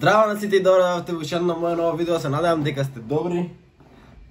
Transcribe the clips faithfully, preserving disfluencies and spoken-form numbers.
Здраво на сите и добро дојдовте во уште едно моје ново видео, се надевам дека сте добри.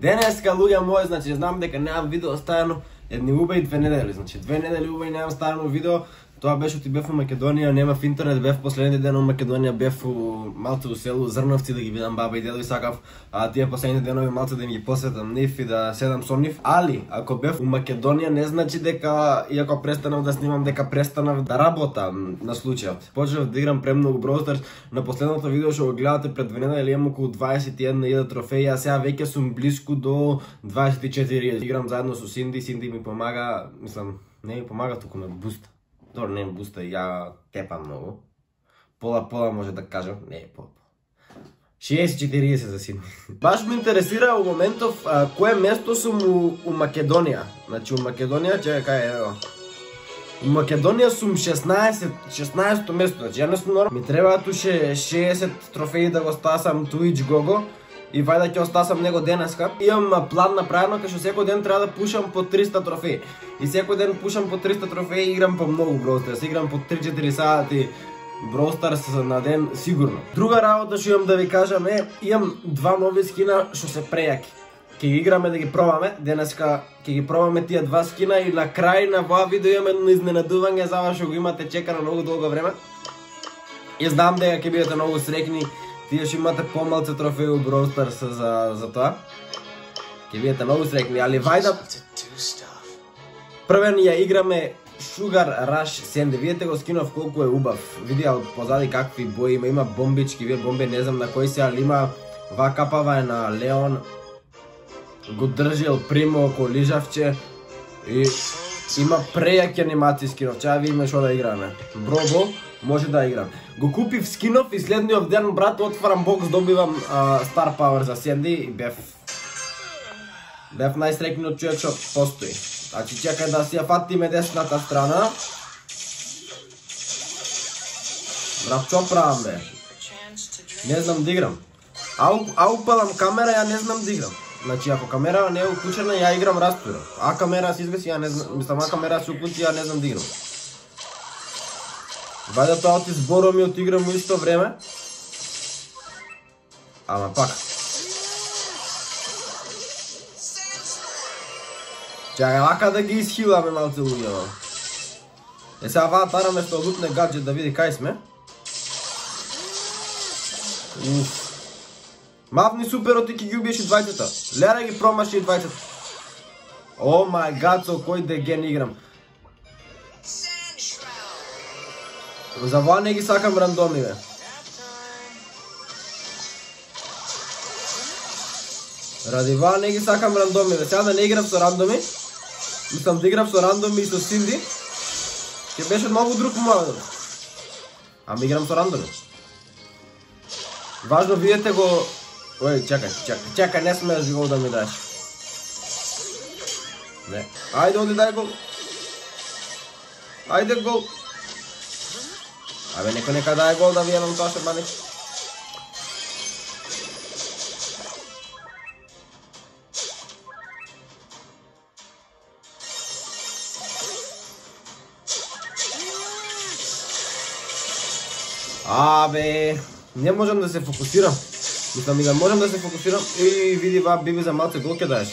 Денеска, луѓе мои, значи знам дека немам видео ставено едни убави две недели, значи две недели убави немам ставено видео. Тоа беше оти бев во Македонија, немав интернет, бев последните ден во Македонија, бев у малце у село Зрновци да ги видам баба и дедо и сакав а, тие последните денови малце да им ги посветам нив и да седам со нив. Али, ако бев у Македонија не значи дека, иако престанав да снимам, дека престанав да работам на случајот. Почнав да играм премногу Brawl Stars. На последното видео што го гледате пред две недели имам околу дваесет и една илјада трофеи, а сега веќе сум блиску до дваесет и четири илјади. Играм заедно со Синди, Синди ми помага, мислам, не ми помага, туку ме буста. Добро, не ме буста, ја тепам многу. Пола-пола може да кажам, не е по. шеесет четириесет за Синди. Баш ме интересира у моментов а, кое место сум у, у Македонија. Значи у Македонија, чекај, кај е, ево. У Македонија сум шеснаесет, шеснаесето место, значи ја не сум нормално. Ми требаат уште шеесет трофеи да го стасам Twitch Gogo. И вајда ќе остасам него денеска. Имам план направено кај што секој ден треба да пушам по триста трофеи. И секој ден пушам по триста трофеи и играм по многу Brawl Stars. Играм по три-четири сати Brawl Stars на ден сигурно. Друга работа што имам да ви кажам е, имам два нови скина што се прејаки. Ќе ги играме да ги пробаме. Денеска ќе ги пробаме тие два скина и на крај на оваа видео имам едно изненадување за вас што го имате чекано многу долго време. И знам дека ќе бидете многу среќни. Тие што имате помалце трофеи у Brawl Stars за, за тоа. Ќе бидете многу среќни, али вајда првен ја играме Sugar Rush Sandy. Видете го скинов колку е убав. Видија од позади какви бои има, има бомбички, вие бомби не знам на кој се, али има ва капава е на Леон. Го држи ел Примо око лижавче и има прејаки анимации скинов. Чаа видиме што да играме. Бробо може да играм. Го купив скинов и следниот ден, брат, отварам бокс, добивам а, Star Power за Sandy и бев бев најсреќниот човек што постои. Значи чекај да си ја фатиме десната страна. Брат, што правам бе? Не знам да играм. А, а упалам камера, ја не знам да играм. Значи ако камера не е уклучена, ја играм распира. А камера се изгаси, ја не знам, мислам, а камера се уклучи, ја не знам да играм. Вајда тоа оти збором и отиграм у исто време. Ама пак. Чакај, вака да ги исхиламе малце луѓе. Е сега ваа тараме што лутне гаджет да види кај сме. Уф. Мавни супер оти ки ги убиеш и двајцата. Лера ги промаши и двајцата. О мај гад, со кој деген играм. За ова не ги сакам рандоми, бе. Ради ова не ги сакам рандоми, бе. Сега да не играм со рандоми. Мислам да играм со рандоми и со Синди. Ке беше многу друг момент. Ама играм со рандоми. Важно видете го. Ој, чакај, чакај, чакај, не смееш гол да ми даш. Не. Ајде, оди дај гол. Ајде гол. Абе, некој нека дај гол да видам тоа што бани. Абе, не можам да се фокусирам. Мислам и да можам да се фокусирам. И види ва биби за малце гол ке даеш.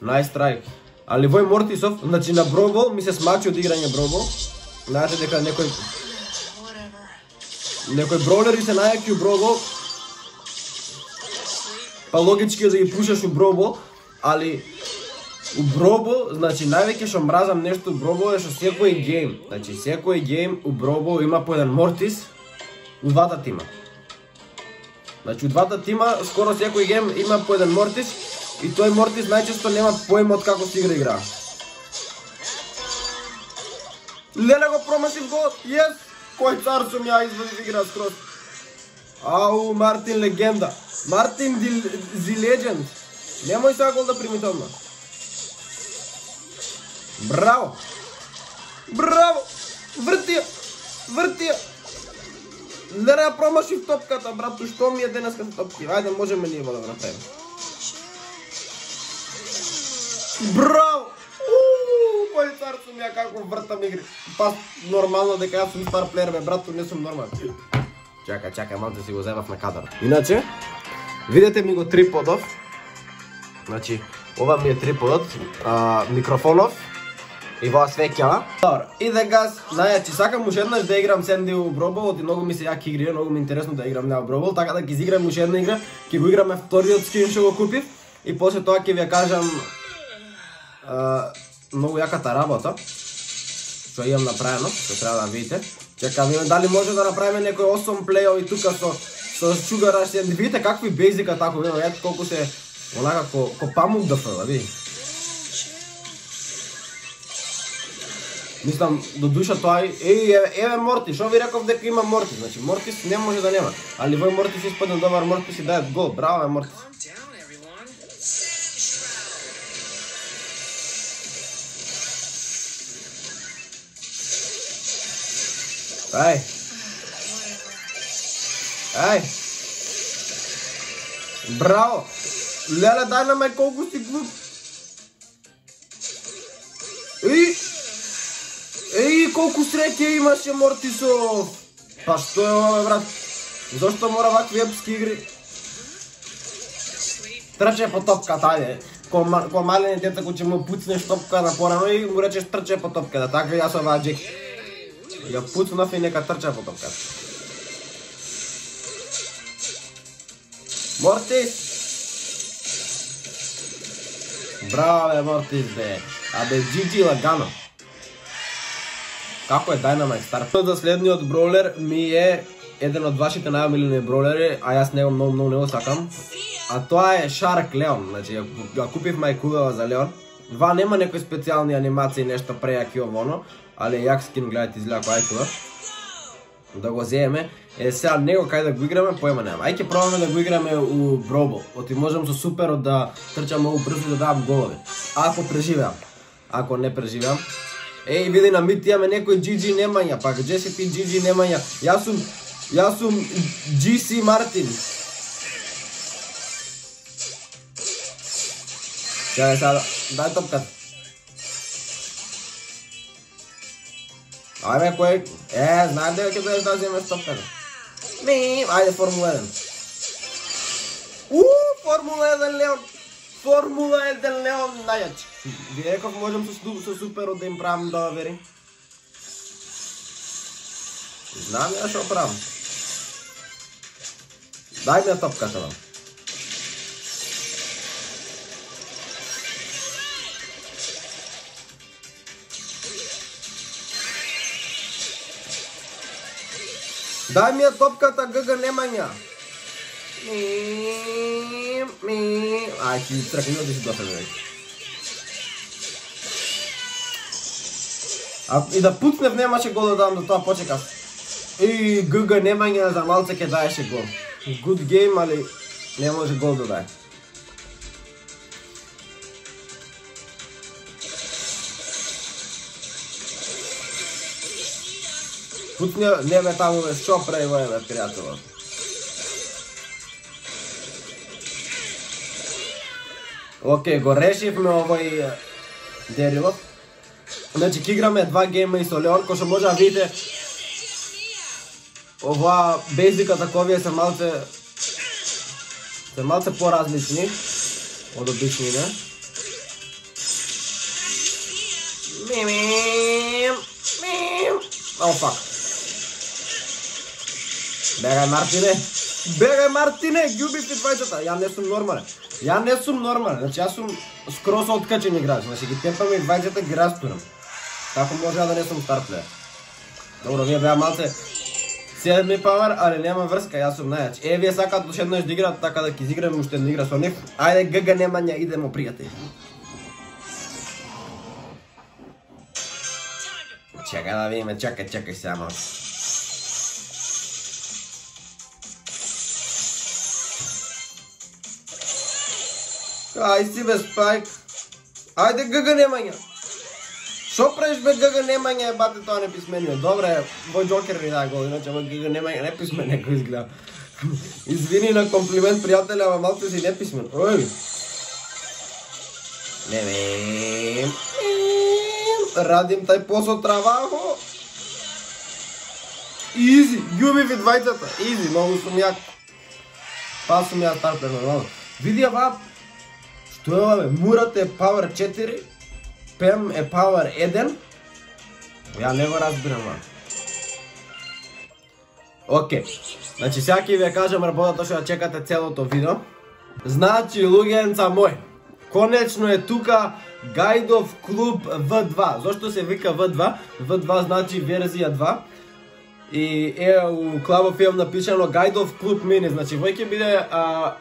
Nice strike. Али вој Мортисов, значи на Brawl Ball ми се смачи од играње Brawl Ball. Знаете дека некој некој броулери се најаки у Brawl Ball. Па логички е да ги пушаш у Brawl Ball, али у Brawl Ball, значи највеќе што мразам нешто у Brawl Ball е што секој гейм, значи секој гейм у Brawl Ball има по еден Мортис у двата тима. Значи у двата тима скоро секој гейм има по еден Мортис и тој Мортис најчесто нема поим од како се игра игра. Леле го промашив гол, јес! Кој цар сум ја извади игра скроз. Ау, Мартин легенда. Мартин зи легенд. Немој сега гол да примите одма. Браво! Браво! Врти ја! Врти ја! Леле ја промашив топката, брату, што ми е денеска со топки? Ајде, можеме ние да го направиме. Браво! Ууу, кој цар сум ја како вртам игри. Па нормално дека јас сум стар плеер, бе, брату, не сум нормален. Чакај, чакај, малце си го земав на кадар. Иначе, видете ми го триподов. Значи, ова ми е триподот, а, микрофонов и во свеќава. Добро, и дека, најачи, сакам уште еднаш да играм Сенди у Бробол, и многу ми се јаки игри, многу ми е интересно да играм на Бробол, така да ќе изиграм уште една игра, ќе го играме вториот скин што го купив, и после тоа ќе ви ја кажам а, многу јаката работа, што имам направено, што треба да видите. Чекам, дали може да направиме некој осем плејови тука со со Sugar Rush. Видите какви бейзика тако, ето колку се онака ко, ко памук да фрла, види. Мислам, до душа тоа е, еве, еве Мортис, што ви реков дека има Мортис, значи Мортис не може да нема, али вој Мортис испадне добар Мортис и дајат гол, браво е Мортис. Ај. Ај. Браво. Леле, дај на ме колку си глуп. Еј. Еј, колку среќа имаше Мортисов. Па што е ова, брат? Зошто мора вакви епски игри? Трче по топката, ајде. Ко, ко малени дете кој ќе му пуцнеш топка на порано и му речеш трче по топката. Така јас ова Джек. Ја пуцнав и нека трча по топката. Мортис! Браво бе Мортис бе. Абе джи джи лагано. Како е Dynamite Star? За следниот броулер ми е еден од вашите најомилени броулери, а јас него многу многу не го сакам. А тоа е Shark Leon. Значи ја купив мајкувава за Леон. Ва нема некои специјални анимации, нешто прејаки овоно, али јак скин, гледате, изгледа кој ајкува. Да го земеме. Е, сега него кај да го играме, поема нема. Ај ќе пробаме да го играме у Бробол. Оти можам со суперот да трчам многу брзо да давам голови. Ако преживеам. Ако не преживеам. Еј, види на мит имаме некој джи джи Немања, пак джи си пи джи джи Немања. Јас сум, јас сум джи си Мартин. Чај сега, дај топката. Ајде кој, е, знаем дека ќе дојдеш да земеш топката. Ми, ајде Формула еден. Уу, Формула еден Леон. Формула еден Леон најач. Ви реков можам со, со суперот да им правам да вери. Знам ја што правам. Дај ми ја топката вам. Дај ми ја топката, ГГ Немања. Ми, ми. Ај, ти тракни да си досаден веќе. А и да пуцнев немаше гол да дам, до тоа почекав. И ГГ Немања за малце ќе даеше гол. Good game, али не може гол да даде. Пуцни, не бе таму бе, шо прави вој бе, пријателот. Океј, го решивме овој дерилот. Значи, ке играме два гейма и со Леон, кој што може да видите ова бейзика таковија се малце се малце поразлични од обичните. Мим, мим. О, фак. Бегај Мартине, бегај Мартине, ги убив ти двајцата, ја не сум нормален. Ја не сум нормален, значи јас сум скроз откачен играч, значи ги тепам и двајцата ги растурам. Како може да не сум стар плеер? Добро, вие беа малце седми павар, али нема врска, јас сум најач. Е, вие сакат уште еднаш да играат, така да ќе изиграме уште една игра со нив. Ајде, ГГ Немања, идемо пријатели. Чекај да видиме, чекај, чекај сега малко. Ај си бе Спајк. Ајде ГГ Немања. Шо правиш бе ГГ Немања, бате тоа не писменио. Добре, вој Джокер ни даде гол, иначе во ГГ Немања не писмен некој изгледа. Извини на комплимент, пријателе, ама малце си не писмен. Ој. Не вем. Радим тај посо травахо. Изи, љуби ви двајцата. Изи, многу сум јак. Па сум ја стартер нормално. Види ова, што е ова бе? Мурат е Power четири, Пем е Power еден. Ја не го разбирам ова. Океј, значи сега ќе ви ја кажам работата што ја чекате целото видео. Значи, луѓенца мој, конечно е тука Гајдов клуб В два. Зошто се вика В два? В два значи верзија два. И е у Club of Film напишано Гајдов клуб мини, значи вој ќе биде а,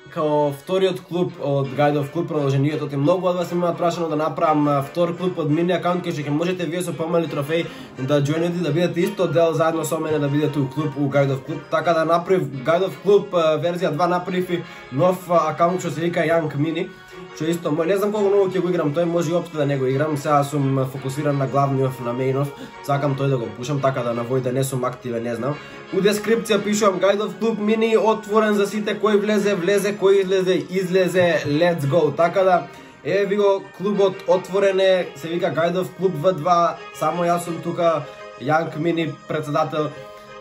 као вториот клуб од Гајдов клуб продолжението. Те многу од вас имаат прашано да направам втор клуб од мини акаунт, кај што ќе можете вие со помали трофеи да џоинете, да бидете исто дел заедно со мене, да бидете у клуб у Гајдов клуб. Така да направив Гајдов клуб верзија два, направив и нов акаунт што се вика Young Mini. Што исто, не знам колку многу ќе го играм, тој може и општо да не го играм, сега сум фокусиран на главниот, на мејнов, сакам тој да го пушам, така да на вој да не сум активен, не знам. У дескрипција пишувам Гајдов клуб мини, отворен за сите, кој влезе, влезе, кој излезе, излезе, let's go, така да, е ви го клубот отворен е, се вика Гајдов клуб В два, само јас сум тука, Young Mini председател.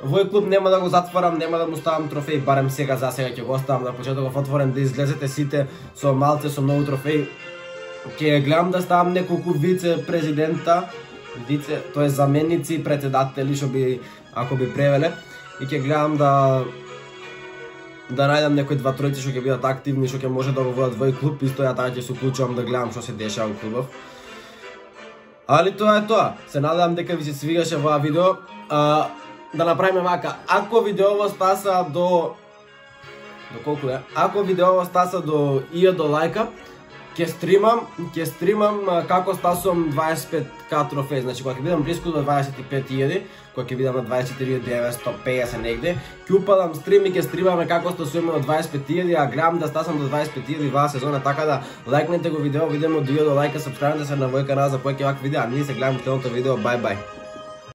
Вој клуб нема да го затварам, нема да му ставам трофеи, барем сега за сега ќе го оставам на почетоков отворен, да излезете сите со малце, со многу трофеи. Ќе гледам да ставам неколку вице-президента, вице, тоа е заменици, председатели, што би, ако би превеле, и ќе гледам да да најдам некои два тројци што ќе бидат активни, што ќе може да го водат вој клуб, исто ја така ќе се уклучувам да гледам што се дешава у клубов. Али тоа е тоа. Се надевам дека ви се свигаше оваа видео. А, да направиме вака, ако видеово стаса до до колку е? Ако видеово стаса до илјада лајка, ќе стримам, ќе стримам како стасувам дваесет и пет ка трофеи. Значи кога ќе бидам блиску до дваесет и пет илјади, кога ќе бидам на дваесет и четири илјади деветстотини и песет негде, ќе упадам стрим и ќе стримаме како стасуваме до дваесет и пет илјади, а гледам да стасам до дваесет и пет илјади ваа сезона, така да лајкнете го видео, видимо до илјада лајка, сапскрајбнете се на мој канал за повеќе вакви видеа, а ние се гледаме во следното видео, бај бај.